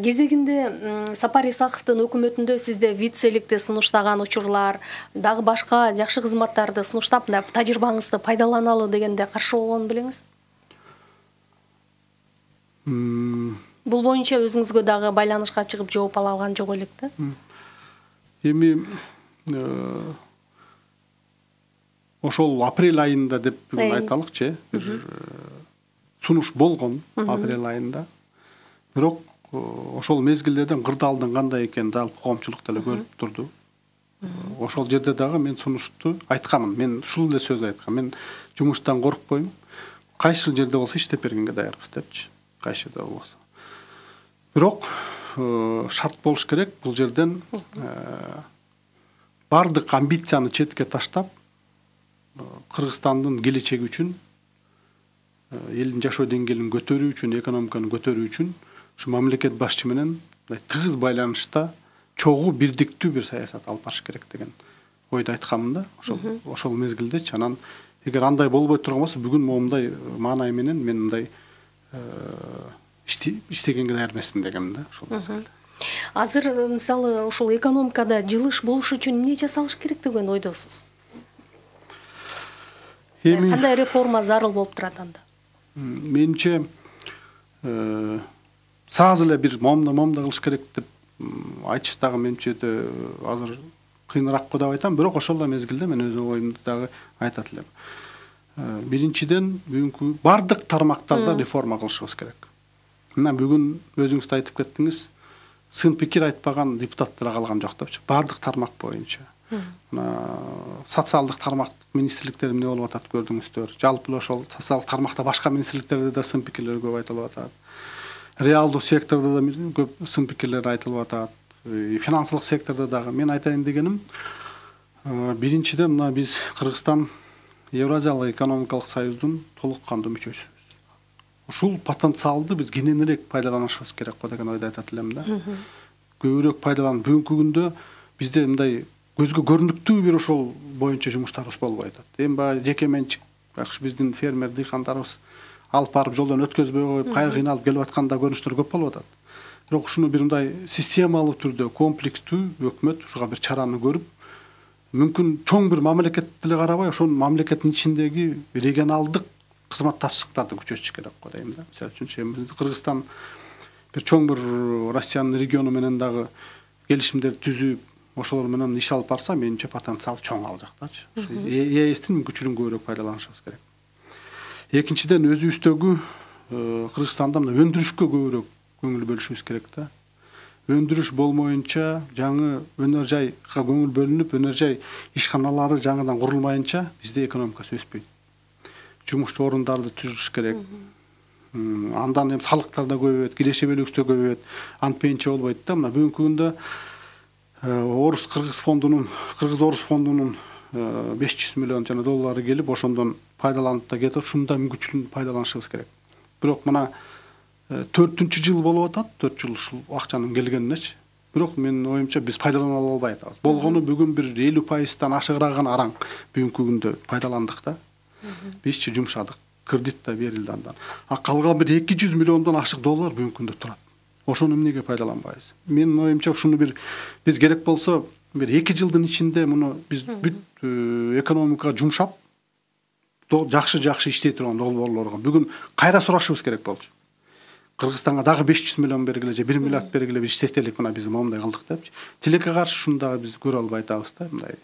Кезегинде Сапар Исаковдун өкмөтүндө сизде вице-ликти сунуштаган учурлар, дагы башка жакшы кызматтарды сунуштап, мындай тажрыйбаңызды пайдаланалы дегенде каршы болгонун билеңиз. Бул боюнча өзүңүзгө дагы байланышка чыгып жооп ала алган жок элек да. Эми ошол апрель айында деп бүгүн айталыкчы, бир сунуш болгон апрель айында. Бирок ошол мезгилдерден кырдаалдын кандай экенин жалпы коомчулук деле көрүп турду. Ошол жерде дагы мен сунушту айткамын. Мен ушул эле сөз айткам. Мен жумуштан коркпойм. Кайсы жерде болсо иштеп бергенге даярбыз депчи. Кайсы жерде болсо. Бирок шарт болуш керек бул жерден бардык амбицияны четке таштап, Кыргызстандын келечеги үчүн, элдин жашоо деңгээлин көтөрүү үчүн, экономиканы көтөрүү үчүн ушу мамлекет башчы менен тыгыз байланышта чогуу бирдиктүү бир саясат алып барыш керек деген ойду айткамын да. Ошол ошол мезгилдечи. Анан эгер андай болбой турган болсо бүгүн момундай маанай менен мен мындай иштегенге даяр эмесмин дегенмин да ошол мезгилде. Азыр мисалы ушул экономикада жылыш болуш үчүн эмне жасалыш керек деген ойдосуз? Эми кандай реформа зарыл болуп турат анда? Менимче сразу эле бир момда момда кылыш керек деп айтыш дагы менимче азыр кыйыныраак го деп айтам. Бирок ошол эле мезгилде мен өз оюмду дагы айтат элем. биринчиден бүгүнкү бардык тармактарда реформа кылышыбыз керек. Мына бүгүн өзүңүз да айтып кеттиңиз, сын пикир айтпаган депутаттар калган жок депчи. Бардык тармак боюнча. Мына социалдык тармак министрликтер эмне болуп атат көрдүңүздөр. Жалпы ошол социалдык тармакта башка министрликтерде да сын пикирлер көп айтылып атат. Реалдуу сектордо да көп сын пикирлер айтылып атат. Финансылык сектордо дагы. Мен айтайын дегеним, биринчиден мына биз Кыргызстан Евразиялык экономикалык союздун толук кандуу мүчөсүбүз. Ушул потенциалды биз кененирээк пайдаланышыбыз керек го деген ойду айтат элем да. Көбүрөөк пайдаланып, бүгүнкү күндө бизде мындай көзгө көрүнүктүү бир ошол боюнча жумуштарыбыз болбой атат. Эми баягы жеке менчик байкуш биздин фермер дыйкандарыбыз алып барып жолдон өткөзбөй коюп, кайра кыйналып келип атканда көрүнүштөр көп болуп атат. Бирок ушуну бир мындай системалуу түрдө, комплекстүү өкмөт ушуга бир чараны көрүп, мүмкүн чоң бир мамлекет деле карабай, ошонун мамлекеттин ичиндеги регионалдык кызматташтыктарды күчөтүш керек го дейм да. Мисалы үчүн биз Кыргызстан бир чоң бир Россиянын региону менен дагы келишимдер түзүп, ошолор менен иш алып барса, менимче потенциал чоң ал жактачы. ЕСтин мүмкүнчүлүгүн көбүрөөк пайдаланышыбыз керек. Экинчиден, өзүбүздөгү Кыргызстанда мына өндүрүшкө көбүрөөк көңүл бөлүшүбүз керек да. Өндүрүш болмоюнча, жаңы өнөр жайга көңүл бөлүнүп, өнөр жай ишканалары жаңыдан курулмайынча бизде экономикасы өспөйт. Жумуш орундарды түзүш керек. Андан эми салыктар да көбөйөт, кирешебелигибиз да көбөйөт. Антпейинче болбойт да. Мына бүгүнкү күндө Орус Кыргыз фондунун, Кыргыз Орус фондунун беш жүз миллион жана доллары келип, ошондон пайдаланып да кетип, ушундай мүмкүнчүлүктү пайдаланышыбыз керек. Бирок мына төртүнчү жыл болуп атат, төрт жыл ушул акчанын келгенинечи. Бирок менин оюмча биз пайдалана албай атабыз. Болгону бүгүн бир элүү пайыздан ашыгыраак гана араң бүгүнкү күндө пайдаландык да. Бизчи жумшадык, кредит да берилди андан. А калган бир эки жүз миллиондон ашык доллар бүгүнкү күндө турат. Ошону эмнеге пайдаланбайбыз? Менин оюмча ушуну бир биз керек болсо бир эки жылдын ичинде муну биз бүт экономикага жумшап, жакшы-жакшы иштей турган долбоорлорго бүгүн кайра сурашыбыз керек болчу. Кыргызстанга дагы беш жүз миллион бергиле же бир миллиард бергиле бир иштетелик, мына биз момундай кылдык депчи. Тилекке каршы шуну дагы биз көрө албай атабыз да, мындай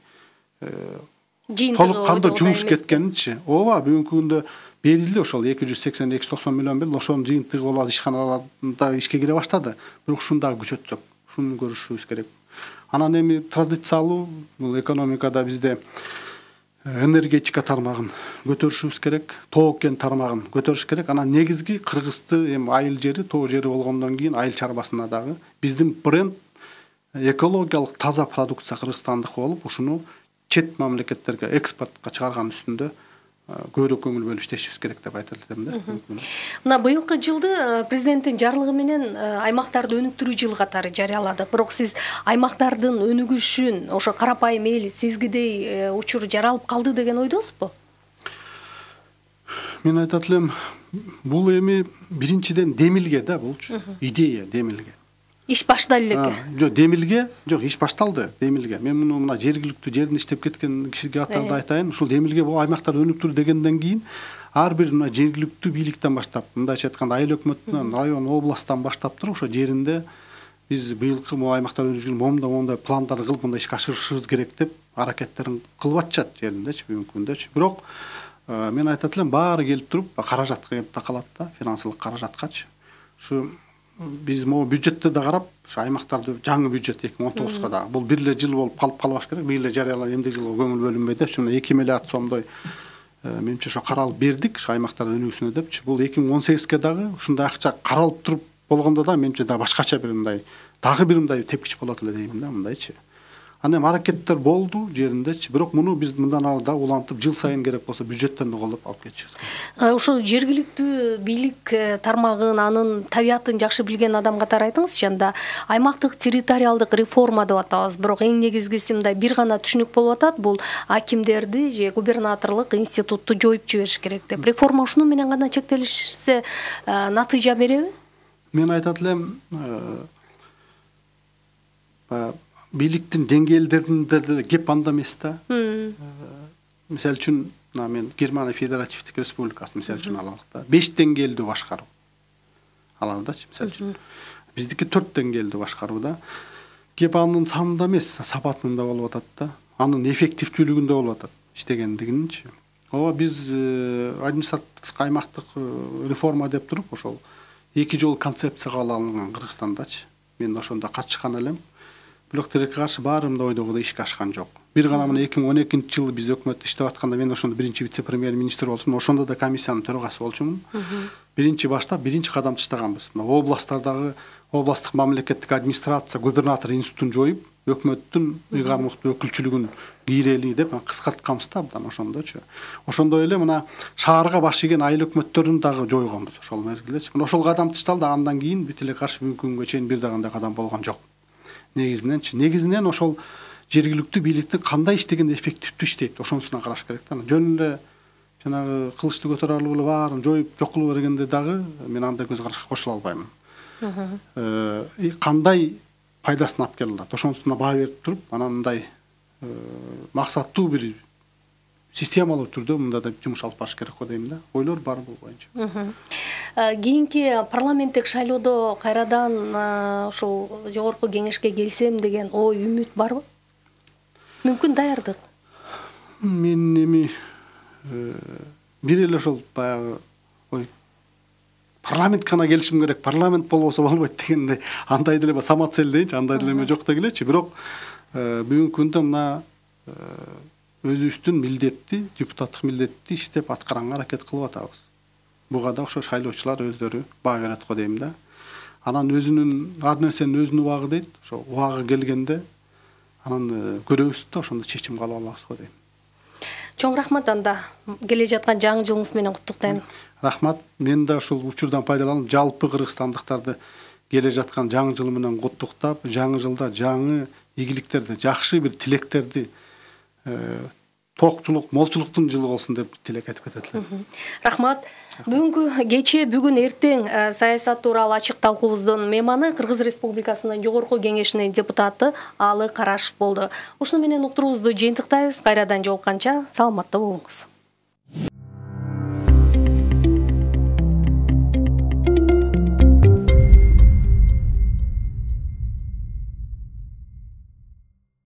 толук кандуу жумуш кеткенинчи. Ооба, бүгүнкү күндө берилди ошол эки жүз сексен эки жүз токсон миллион берилди, ошонун жыйынтыгы болот, ишканаларда ишке кире баштады. Бирок ушуну дагы күчөтсөк, ушуну көрүшүбүз керек. Анан эми традициялуу бул экономикада бизде энергетика тармагын көтөрүшүбүз керек, тоо кен тармагын көтөрүш керек. Анан негизги Кыргызды эми айыл жери, тоо жери болгондон кийин айыл чарбасына дагы биздин бренд экологиялык таза продукция кыргызстандык болуп, ушуну чет мамлекеттерге экспортко чыгарган үстүндө көбүрөөк көңүл бөлүп иштешибиз керек деп айтат элем да. Мына быйылкы жылды президенттин жарлыгы менен аймактарды өнүктүрүү жылы катары жарыялады. Бирок сиз аймактардын өнүгүшүн ошо карапайым эл сезгидей учур жаралып калды деген ойдосузбу? Мен айтат элем, бул эми биринчиден демилге да, булчу идея, демилге. Иш башталды элеке. Жок, демилге, жок, иш башталды, демилге. Мен муну мына жергиликтүү жерин иштеп кеткен кишиге катарында айтайын. Ушул демилге бул аймактарды өнүктүрүү дегенден кийин ар бир мына жергиликтүү бийликтен баштап, мындайча айтканда айыл өкмөтүнөн, район, областтан баштап туруп ошо жеринде биз быйылкы могу аймактар өнүгүүчүн момундай момундай пландар кылып, мындай ишке ашырышыбыз керек деп аракеттерин кылып атышат жериндечи, бүгүнкү күндөчү. Бирок мен айтат элем, баары келип туруп, каражатка келип такалат да, финансылык каражаткачы. Ушу биз могу бюджетте да карап, ушу аймактарды жаңы бюджет эки миң он тогузга да бул бир эле жыл болуп калып калбаш керек. Бир эле жарыялап эмдиги жылга көңүл бөлүнбөй деп, ушу эки миллиард сомдой менимче ошо каралып бердик, ушу аймактардын өнүгүүсүнө депчи. Бул эки миң он сегизге дагы ушундай акча каралып туруп болгондо да менимче да башкача бир мындай дагы бир мындай тепкич болот эле дейм да, мындайчы. Аны эми аракеттер болду жериндечи. Бирок муну биз мындан ары да улантып, жыл сайын керек болсо бюджеттен да колдоп алып кетишибиз керек. Ошол жергиликтүү бийлик тармагын, анын табиятын жакшы билген адам катары айтыңызчы, анда аймактык территориалдык реформа деп атабыз. Бирок эң негизгиси мындай бир гана түшүнүк болуп атат, бул акимдерди же губернаторлук институтту жоюп жибериш керек деп. Реформа ушуну менен гана чектелишсе натыйжа береби? Мен айтат элем, бийликтин деңгээлдеринде деле кеп анда эмес да. Мисалы үчүн, мен Германия Федеративдик Республикасы мисалы үчүн алалык да. беш деңгээлдүү башкаруу. Алардачы мисалы үчүн. Биздики төрт деңгээлдүү башкаруу да. Кеп анын санында эмес, сапатында болуп атат да. Анын эффективдүүлүгүндө болуп атат иштегендигинчи. ооба биз административдик аймактык реформа деп туруп ошол эки жол концепция кабыл алынган Кыргызстандачы. Мен ошондо катышкан элем. Бирок тилекке каршы баары мындай ойдогудай ишке ашкан жок. Бир гана мына эки миң он экинчи жылы биз өкмөттө иштеп атканда мен ошондо биринчи вице-премьер-министр болчумун. Ошондо да комиссиянын төрагасы болчумун. Биринчи баштап биринчи кадам таштаганбыз. Мына областтардагы областтык мамлекеттик администрация губернатор институтун жоюп, өкмөттүн ыйгармыктуу өкүлчүлүгүн кийрели деп кыскартканбыз да абдан ошондочу. Ошондой эле мына шаарга баш ийген айыл өкмөттөрүн дагы жойгонбуз ошол мезгилдечи. Мына ошол кадам ташталды, андан кийин бүт эле каршы бүгүнкү күнгө чейин бир да кандай кадам болгон жок. Негизиненчи, негизинен ошол жергиликтүү бийликтин кандай иштегенде эффективдүү иштейт, ошонусуна караш керек да. Жөн эле жанагы кылычты көтөрө алып эле баарын жоюп жок кылып бергенде дагы мен андай көз карашка кошула албайм. Кандай пайдасын алып келе алат, ошонусуна баа берип туруп, анан мындай максаттуу бир системалуу түрдө мында да жумуш алып барыш керек го дейм да. Ойлор бар бул боюнча. Кийинки парламенттик шайлоодо кайрадан ошол жогорку кеңешке келсем деген ой, үмүт барбы? Мүмкүн даярдык? Мен эми бир эле ошол баягы ой парламентке гана келишим керек, парламент болбосо болбойт дегендей андай деле самоцель дейинчи, андай деле жок дегилечи. Бирок бүгүнкү күндө мына өзүбүздүн милдетти, депутаттык милдетти иштеп аткаранга аракет кылып атабыз. Буга да ошо шайлоочулар өздөрү баа берет го дейм да. Анан өзүнүн ар нерсенин өзүнүн убагы дейт. Ошо убагы келгенде анан көрөбүз да ошондо чечим кабыл алабыз го дейм. Чоң рахмат анда. Келе жаткан жаңы жылыңыз менен куттуктайм. Рахмат. Мен да ушул учурдан пайдаланып жалпы кыргызстандыктарды келе жаткан жаңы жыл менен куттуктап, жаңы жылда жаңы ийгиликтерди, жакшы бир тилектерди, токчулук, молчулуктун жылы болсун деп тилек айтып кетет элем. Рахмат. Бүгүнкү кечээ, бүгүн эртең саясат тууралуу ачык талкуубуздун мейманы Кыргыз Республикасынын Жогорку Кеңешинин депутаты Алы Карашев болду. Ушуну менен уктуруубузду жыйынтыктайбыз. Кайрадан жолукканча саламатта болуңуз.